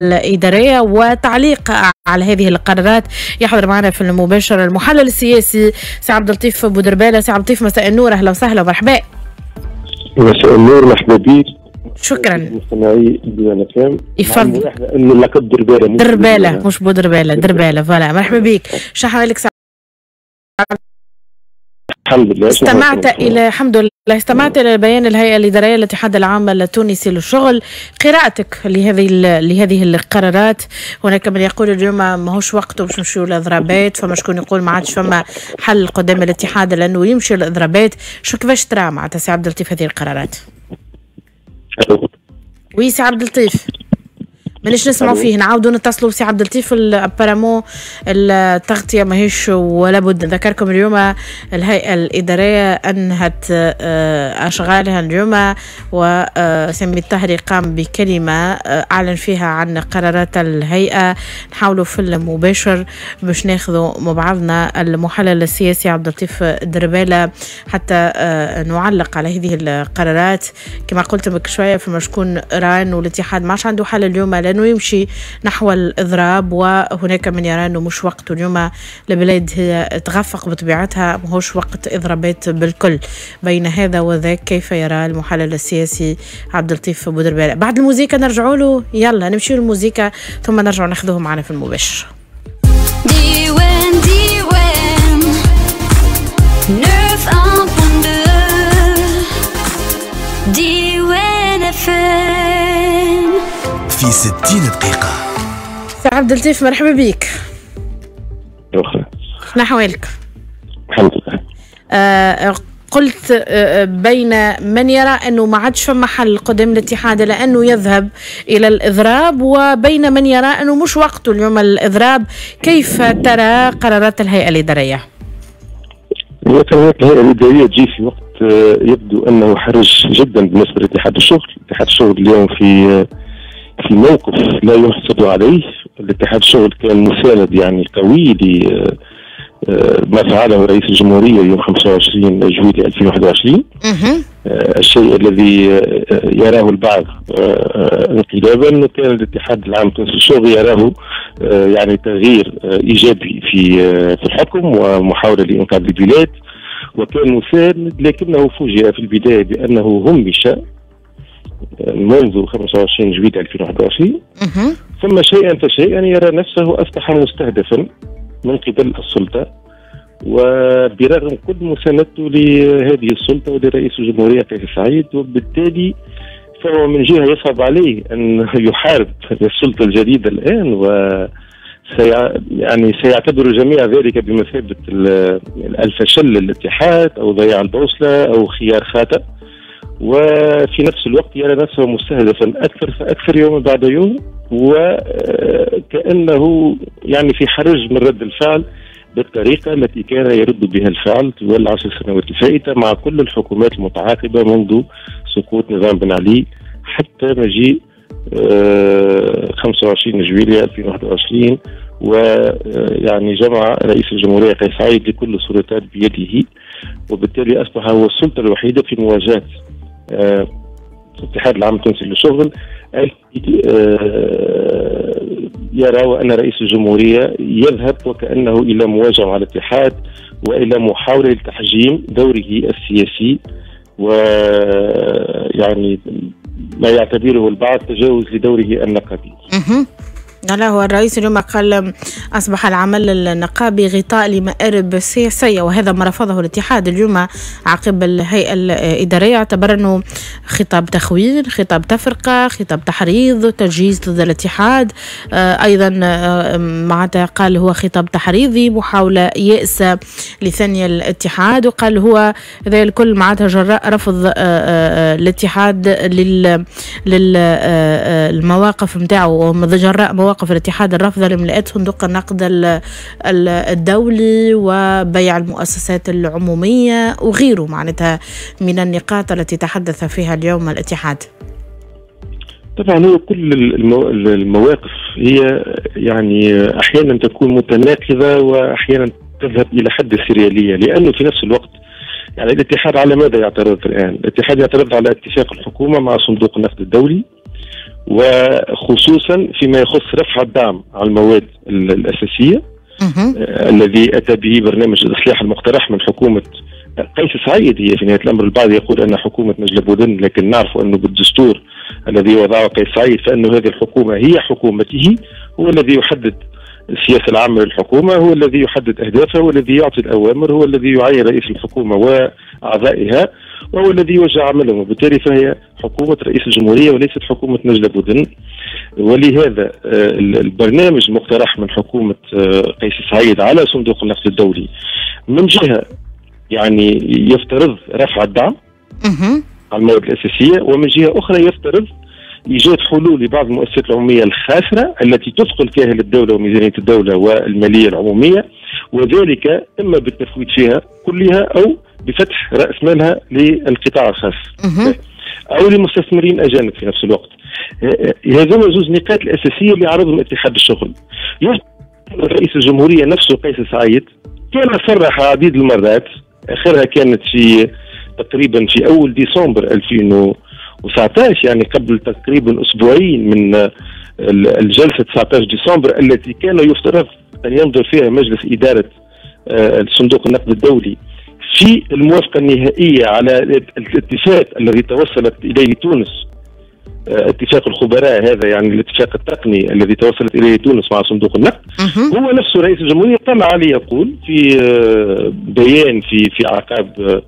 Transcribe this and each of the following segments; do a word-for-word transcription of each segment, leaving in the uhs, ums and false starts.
الإدارية وتعليق على هذه القرارات. يحضر معنا في المباشر المحلل السياسي سي عبد اللطيف بودربالة. سي عبد اللطيف مساء النور، أهلا وسهلا ومرحبا. مساء النور، مرحبا بك. شكرا. مستمعي ديوان FM. يفضل. انه اللقب درباله مش درباله مش بودرباله، درباله voilà. مرحبا بك، شو حوالك سي؟ الحمد لله. استمعت الى الحمد لله استمعت الى بيان الهيئة الادارية للاتحاد العام التونسي للشغل، قراءتك لهذه لهذه القرارات. هناك من يقول اليوم ماهوش وقته باش نمشيو للاضرابات، فما شكون يقول ما عادش فما حل قدام الاتحاد لانه يمشي للاضرابات. شو كيفاش ترى معناتها سي عبد اللطيف هذه القرارات؟ oui سي عبد اللطيف مانيش نسمعوا فيه، نعاودوا نتصلوا بسي عبد اللطيف. apparemment التغطية ماهيش ولا بد. نذكركم اليوم الهيئة الادارية انهت اشغالها اليوم، وسامي الطاهري قام بكلمه اعلن فيها عن قرارات الهيئة. نحاولوا في المباشر باش ناخذوا مع بعضنا المحلل السياسي عبد اللطيف درباله حتى نعلق على هذه القرارات. كما قلت بك شوية فما شكون رأى انه الاتحاد ما عادش عنده حل اليوم لأنه يمشي نحو الإضراب، وهناك من يرى أنه مش وقت اليوم، البلاد هي تغفق بطبيعتها، ماهوش وقت إضرابات بالكل. بين هذا وذاك كيف يرى المحلل السياسي عبد اللطيف بودربالة؟ بعد الموزيكا نرجعوا له، يلا نمشي للموزيكا ثم نرجع ناخذه معنا في المباشر. ديوان ديوان ديوان FM في ستين دقيقة. سي عبد اللطيف مرحبا بك. أخرى. شنو أحوالك؟ الحمد لله. آه قلت آه بين من يرى أنه ما عادش فما حل قدام الاتحاد لأنه يذهب إلى الإضراب، وبين من يرى أنه مش وقته اليوم الإضراب. كيف ترى قرارات الهيئة الإدارية؟ قرارات الهيئة الإدارية تجي في وقت يبدو أنه حرج جدا بالنسبة لاتحاد الشغل. اتحاد الشغل اليوم في في موقف لا يحسد عليه. الاتحاد الشغل كان مساند يعني قوي لما فعله رئيس الجمهورية يوم خمسة وعشرين جويلية ألفين وواحد وعشرين، الشيء الذي يراه البعض انقلابا، كان الاتحاد العام التونسي للشغل يراه يعني تغيير ايجابي في في الحكم ومحاولة لانقاذ البلاد، وكان مساند، لكنه فوجئ في البداية بانه همش منذ خمسة وعشرين جويلية ألفين وواحد وعشرين، ثم شيئا فشيئا يرى نفسه أصبح مستهدفا من قبل السلطة، وبرغم كل مساندته لهذه السلطة ولرئيس الجمهورية قيس سعيد، وبالتالي فهو من جهة يصعب عليه أن يحارب السلطة الجديدة الآن، و يعني سيعتبر الجميع ذلك بمثابة الفشل للاتحاد أو ضياع البوصلة أو خيار خاطئ، وفي نفس الوقت يرى نفسه مستهدفا أكثر فأكثر يوما بعد يوم، وكأنه يعني في حرج من رد الفعل بالطريقة التي كان يرد بها الفعل طوال العشر سنوات الفائتة مع كل الحكومات المتعاقبة منذ سقوط نظام بن علي حتى مجيء خمسة وعشرين جويلية ألفين وواحد وعشرين، ويعني جمع رئيس الجمهورية قيس سعيد لكل السلطات بيده، وبالتالي أصبح هو السلطة الوحيدة في مواجهة الاتحاد العام التونسي للشغل يرى أن رئيس الجمهورية يذهب وكأنه إلى مواجهة مع الاتحاد وإلى محاولة لتحجيم دوره السياسي، ويعني ما يعتبره البعض تجاوز لدوره النقابي. لا، هو الرئيس اليوم قال أصبح العمل النقابي غطاء لمآرب سياسية، وهذا ما رفضه الاتحاد اليوم عقب الهيئة الإدارية. اعتبر أنه خطاب تخوين، خطاب تفرقة، خطاب تحريض، تجهيز ضد الاتحاد. أيضا معناتها قال هو خطاب تحريضي، محاولة يائسة لثني الاتحاد، وقال هو هذا الكل معناتها جراء رفض الاتحاد لل للمواقف نتاعو، جراء مواقف مواقف الاتحاد الرافضة لملاءات صندوق النقد الدولي وبيع المؤسسات العمومية وغيره معناتها من النقاط التي تحدث فيها اليوم الاتحاد. طبعا هو كل المواقف هي يعني أحيانا تكون متناقضة وأحيانا تذهب إلى حد السريالية، لأنه في نفس الوقت يعني الاتحاد على ماذا يعترض الآن؟ الاتحاد يعترض على اتفاق الحكومة مع صندوق النقد الدولي، وخصوصا فيما يخص رفع الدعم على المواد الأساسية آه الذي أتى به برنامج الإصلاح المقترح من حكومة قيس سعيد. هي في نهاية الأمر البعض يقول أن حكومة نجلة بودن، لكن نعرف أنه بالدستور الذي وضعه قيس سعيد فإن هذه الحكومة هي حكومته، هو الذي يحدد السياسة العامة للحكومة، هو الذي يحدد أهدافها، هو الذي يعطي الأوامر، هو الذي يعين رئيس الحكومة وأعضائها، وهو الذي يوجه عملهم، وبالتالي فهي حكومة رئيس الجمهورية وليست حكومة نجلة بودن. ولهذا البرنامج المقترح من حكومة قيس سعيد على صندوق النقد الدولي من جهة يعني يفترض رفع الدعم على المواد الأساسية، ومن جهة أخرى يفترض إيجاد حلول لبعض المؤسسات العمومية الخاسرة التي تثقل كاهل الدولة وميزانية الدولة والمالية العمومية، وذلك إما بالتفويت فيها كلها أو بفتح رأس مالها للقطاع الخاص أو لمستثمرين أجانب في نفس الوقت. هذوما زوج نقاط الأساسية اللي عرضهم اتحاد الشغل. رئيس الجمهورية نفسه قيس سعيد كان صرح عديد المرات، آخرها كانت في تقريبا في أول ديسمبر ألفين وتسعطاش، يعني قبل تقريبا أسبوعين من الجلسة تسعطاش ديسمبر التي كان يفترض أن ينظر فيها مجلس إدارة صندوق النقد الدولي في الموافقة النهائية على الاتفاق الذي توصلت إليه تونس، اتفاق الخبراء هذا، يعني الاتفاق التقني الذي توصلت إليه تونس مع صندوق النقد. هو نفسه رئيس الجمهورية طلع عليه يقول في بيان في في أعقاب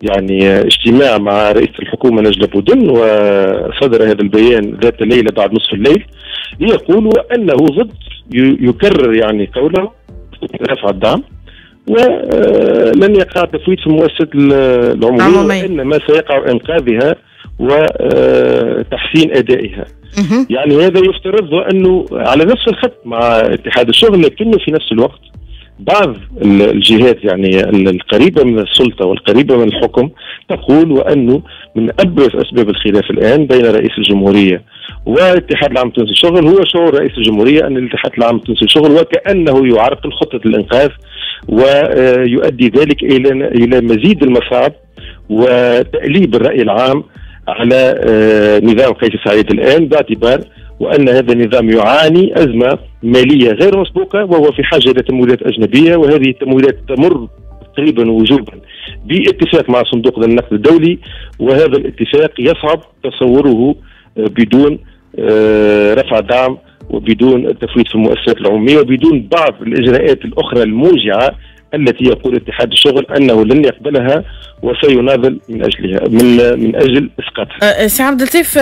يعني اجتماع مع رئيس الحكومة نجلة بودن، وصدر هذا البيان ذات ليلة بعد نصف الليل، ليقول أنه ضد، يكرر يعني قوله رفع الدعم ولن يقع تفويت في المؤسسات العمومية، وإنما سيقع إنقاذها وتحسين أدائها. يعني هذا يفترض أنه على نفس الخط مع اتحاد الشغل، لكنه في نفس الوقت بعض الجهات يعني القريبة من السلطة والقريبة من الحكم تقول وأنه من أبرز أسباب الخلاف الآن بين رئيس الجمهورية والاتحاد العام التونسي للشغل هو شعور رئيس الجمهورية أن الاتحاد العام التونسي للشغل وكأنه يعرقل خطة الإنقاذ، ويؤدي ذلك إلى إلى مزيد المصاعب وتأليب الرأي العام على نظام قيس سعيد الآن، باعتبار وأن هذا النظام يعاني أزمة مالية غير مسبوقة وهو في حاجة إلى تمويلات أجنبية، وهذه التمويلات تمر تقريبا وجوبا باتفاق مع صندوق النقد الدولي، وهذا الاتفاق يصعب تصوره بدون رفع دعم وبدون التفويت في المؤسسات العمومية وبدون بعض الإجراءات الأخرى الموجعة التي يقول اتحاد الشغل انه لن يقبلها وسيناضل من اجلها من من اجل اسقاطها. سي عبد اللطيف،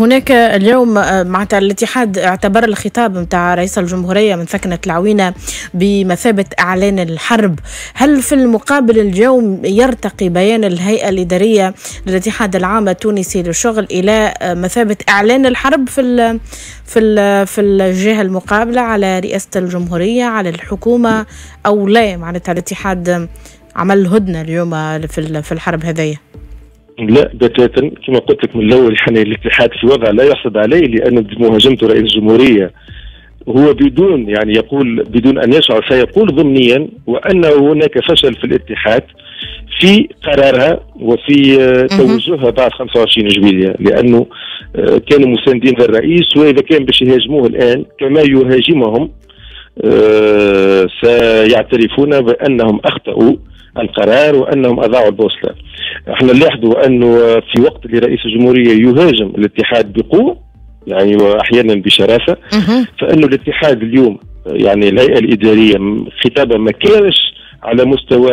هناك اليوم معناتها الاتحاد اعتبر الخطاب نتاع رئيس الجمهورية من ثكنه العوينة بمثابة اعلان الحرب، هل في المقابل اليوم يرتقي بيان الهيئة الادارية للاتحاد العام التونسي للشغل الى مثابة اعلان الحرب في ال في ال في الجهة المقابلة على رئاسة الجمهورية على الحكومة او لا؟ معناتها الاتحاد عمل هدنة اليوم في في الحرب هذيا؟ لا بتاتا، كما قلت لك من الاول يعني الاتحاد في وضع لا يحسد عليه، لان مهاجمته رئيس الجمهورية هو بدون يعني يقول بدون ان يشعر سيقول ضمنيا وان هناك فشل في الاتحاد في قرارها وفي توجهها بعد خمسة وعشرين جويلية، لانه كانوا مساندين للرئيس، واذا كان باش يهاجموه الان كما يهاجمهم سيعترفون بانهم اخطاوا القرار وانهم اضاعوا البوصلة. احنا نلاحظوا انه في وقت اللي رئيس الجمهورية يهاجم الاتحاد بقوة يعني واحيانا بشراسة، فانه الاتحاد اليوم يعني الهيئة الادارية خطابها ما كانش على مستوى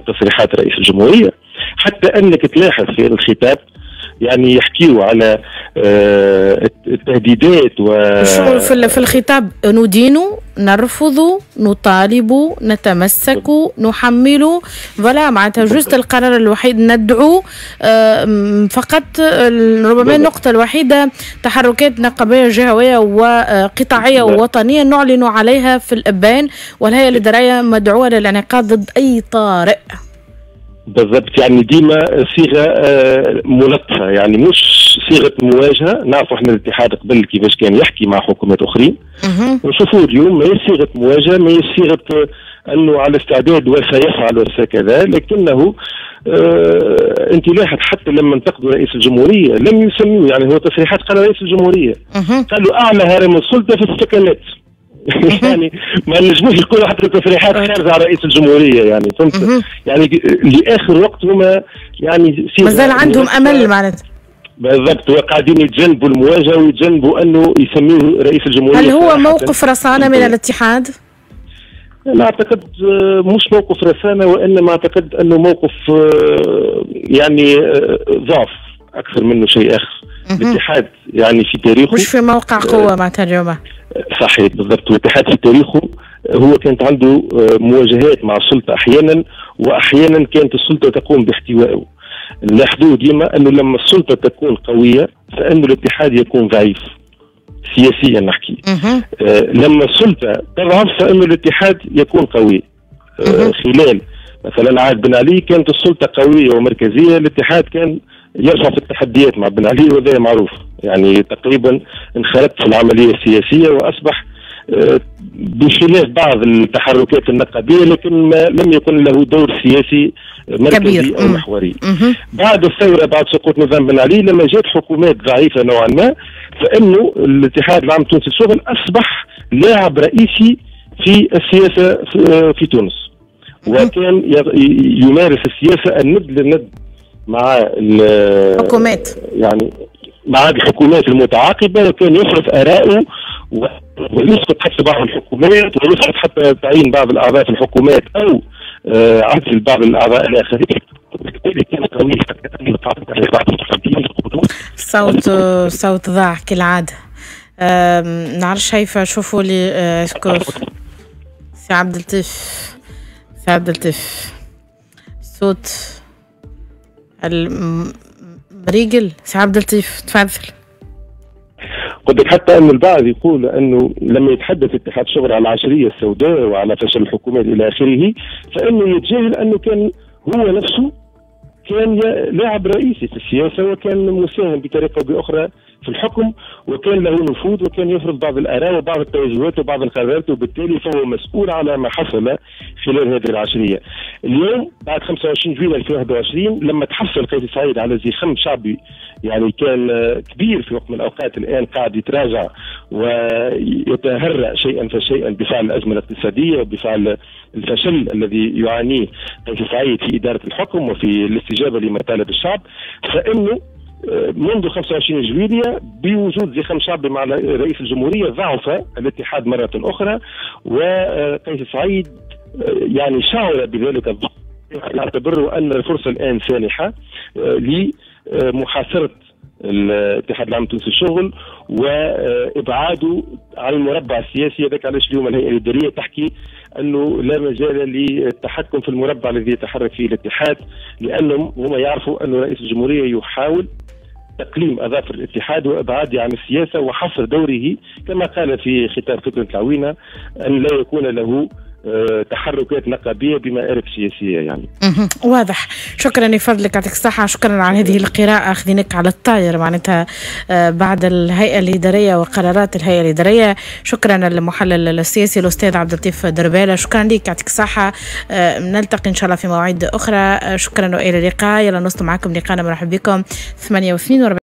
تصريحات رئيس الجمهورية، حتى انك تلاحظ في الخطاب يعني يحكيوا على التهديدات و شو في في الخطاب ندين، نرفض، نطالب، نتمسك، نحمل، voilà معناتها juste القرار الوحيد ندعو فقط، ربما النقطة الوحيدة تحركات نقابية جهوية وقطاعية ووطنية نعلن عليها في الإبان، والهيئة الإدارية مدعوة للانعقاد ضد أي طارئ. بالضبط، يعني ديما صيغة ملطفه، يعني مش صيغة مواجهة. نعرفوا احنا الاتحاد قبل كيفاش كان يحكي مع حكومات اخرين، ونشوفوا اليوم ما هي صيغة مواجهة، ما هي صيغة انه على استعداد وسيفعل وسكذا، لكنه آه انت لاحظ حتى لما انتقدوا رئيس الجمهورية لم يسموه، يعني هو تصريحات قال رئيس الجمهورية قالوا اعلى هرم السلطة في السكنات. يعني ما نجموش يقولوا حتى تصريحات خارجه على رئيس الجمهورية، يعني فهمت؟ يعني لاخر وقت هما يعني مازال عندهم امل معناتها. بالضبط، وقاعدين يتجنبوا المواجهة ويتجنبوا انه يسميه رئيس الجمهورية. هل هو موقف رصانه من الاتحاد؟ لا اعتقد مش موقف رسانه، وانما اعتقد انه موقف يعني ضعف اكثر منه شيء اخر. الاتحاد يعني في تاريخه مش في موقع قوة معناتها اليوم. صحيح بالضبط، والاتحاد في تاريخه هو كانت عنده مواجهات مع السلطة احيانا، واحيانا كانت السلطة تقوم باحتوائه. نلاحظوا ديما انه لما السلطة تكون قوية فانه الاتحاد يكون ضعيف سياسيا نحكي. آه لما السلطة تضعف فانه الاتحاد يكون قوي. آه خلال مثلا عهد بن علي كانت السلطة قوية ومركزية، الاتحاد كان يرفع في التحديات مع بن علي وهذا معروف، يعني تقريبا انخرط في العملية السياسية واصبح آه بخلاف بعض التحركات النقابيه، لكن ما لم يكن له دور سياسي مركزي كبير او محوري. بعد الثورة، بعد سقوط نظام بن علي، لما جات حكومات ضعيفة نوعا ما، فانه الاتحاد العام التونسي للشغل اصبح لاعب رئيسي في السياسة في تونس، وكان يمارس السياسة الند للند مع الحكومات، يعني مع الحكومات المتعاقبة، وكان يفرض ارائه ويسقط حتى بعض الحكومات، ويسقط حتى تعيين بعض الاعضاء في الحكومات او عزل بعض الاعضاء الاخرين. صوت صوت ضاع كالعادة. نعرفش شايفه، شوفوا لي est-ce que سي عبد اللطيف، سي عبد اللطيف صوت المريقل. سي عبد اللطيف تفضل. قلت لك حتى أن البعض يقول أنه لما يتحدث اتحاد الشغل على العشرية السوداء وعلى فشل الحكومات إلى آخره، فإنه يتجاهل أنه كان هو نفسه كان لاعب رئيسي في السياسة، وكان مساهم بطريقة أو بأخرى في الحكم، وكان له نفوذ، وكان يفرض بعض الآراء وبعض التوجهات وبعض القرارات، وبالتالي فهو مسؤول على ما حصل خلال هذه العشرية. اليوم بعد خمسة وعشرين جويلية ألفين وواحد وعشرين لما تحصل قيس سعيد على زخم شعبي يعني كان كبير في وقت من الأوقات، الآن قاعد يتراجع ويتهرأ شيئا فشيئا بفعل الأزمة الاقتصادية وبفعل الفشل الذي يعانيه قيس سعيد في إدارة الحكم وفي الاستجابة لمطالب الشعب، فإنه منذ خمسة وعشرين جويلية بوجود زخم شعبي مع رئيس الجمهورية ضعف الاتحاد مرة أخرى، وقيس سعيد يعني شعر بذلك الضعف، يعتبر أن الفرصة الآن سانحة لمحاصرة الاتحاد العام التونسي للشغل وابعاده عن المربع السياسي. هذاك علاش اليوم الهيئة الادارية تحكي انه لا مجال للتحكم في المربع الذي يتحرك فيه الاتحاد، لانهم هم يعرفوا ان رئيس الجمهورية يحاول تقليم اظافر الاتحاد وابعاده عن السياسة وحصر دوره كما قال في خطاب فتنة العوينة ان لا يكون له تحركات نقابيه بمآرب سياسية. يعني واضح. شكرا لفضلك، يعطيك الصحة، شكرا على هذه القراءة، خذيناك على الطاير معناتها بعد الهيئة الادارية وقرارات الهيئة الادارية. شكرا للمحلل السياسي الاستاذ عبد اللطيف درباله، شكرا لك، يعطيك الصحة. نلتقي ان شاء الله في مواعيد اخرى. شكرا والى اللقاء. يلا نوصل معكم لقاءنا، مرحبا بكم ثمانية واثنين وأربعين.